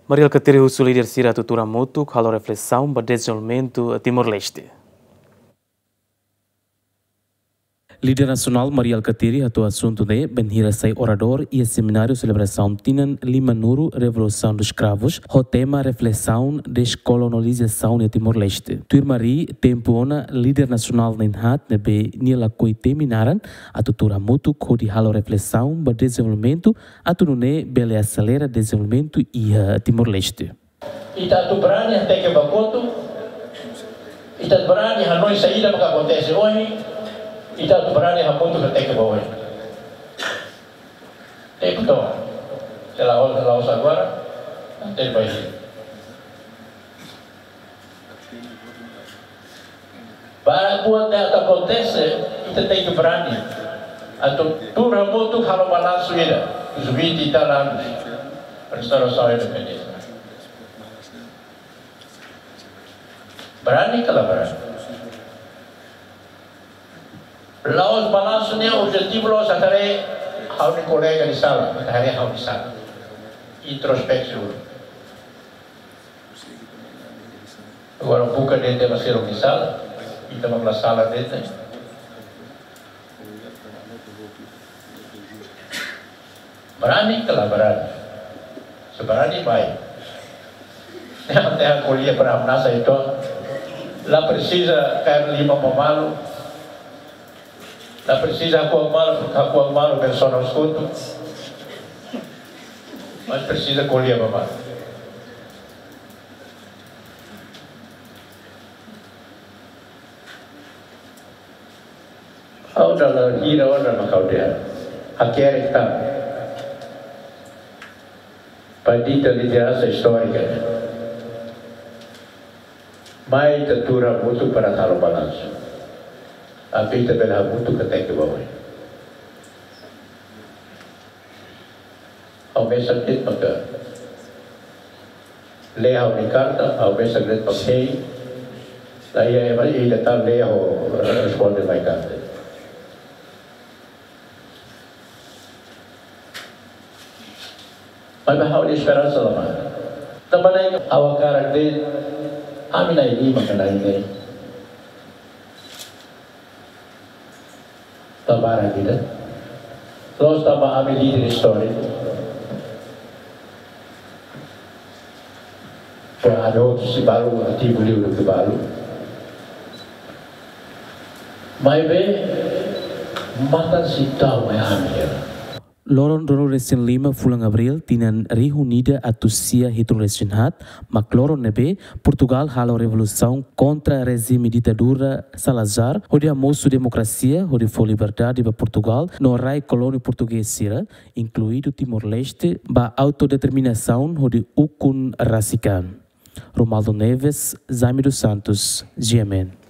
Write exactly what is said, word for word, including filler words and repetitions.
Mari Alkatiri husu líder sira atu tuur hamutuk halo reflesaun ba dezenvolvimentu Timor-Leste. Líder nasionál Mari Alkatiri hato'o asuntu ne'e bainhira sai oradór iha semináriu selebrasaun tinan lima-nulu Revolução dos Cravos, ho tema reflesaun deskolonizasaun iha Timor-Leste. Tuir Mari, tempu ona líder nasionál na'in-haat ne'ebé nia lakohi temi naran atu tuur hamutuk hodi halo reflesaun ba dezenvolvimentu, atu nune'e bele aselera dezenvolvimentu iha Timor-Leste. Ita atu brani hateke ba kotuk, ita atu brani hanoin saida maka akontese ohin, ita atu brani hamutuk hateke ba oin. Tempu to'o, se la'ós, se la'ós agora, até vai. Para buat ne'e atu akontese, ita tenke brani atu tuur hamutuk halo balansu ida, dos vinte e tal anos, restaurasaun independénsia. Brani ka la brani? La'ós balansu ne'e objetivu la'ós atu haree ha'u-nia kolega nia sala, atu haree ha'u-nia sala. Introspeksaun. Agora buka de'it ema seluk nia sala, ita mak la sala de'it. Brani ka la brani? Se brani mai. Até ko'alia para hamnasa entaun. La presiza kaer liman ba malu. La presiza hakuak malu, hakuak malu persona os kotuk. Mas presiza ko'alia ba malu. Ha'u dala hira ona mak ha'u dehan. Hakerek tan. Para ita lideransa istórika. Mai ita tuur hamutuk para halo balansu. Atu ita bele hamutuk hateke ba oin. Ha'u mesak de'it maka lee ha'u-nia karta, ha'u mesak de'it maka hein. La iha ema ida tan lee ha'u responde mai karta. Maibé ha'u-nia esperansa la mate. Tanba ne'e ha'u hakarak dehan, ami na'in-lima ka na'in-neen. Tanba ida. La'ós tanba ami líder istóriku. Para atu sei balu ativu liu duké balu. Maibé matan sei tau mai ami hela. Loron ruanulu-resin-lima fulan Abríl tinan rihun ida atus sia hitunulu-resin-haat, mak loron ne'ebé Portugál halo revolusaun kontra rejime ditadura Salazar, hodi hamosu demokrasia, hodi fó liberdade ba Portugál no rai kolónia portugés sira, inkluídu Timor-Leste, ba autodeterminasaun hodi ukun rasik an. Romaldo Neves, Jaime dos Santos, G M N.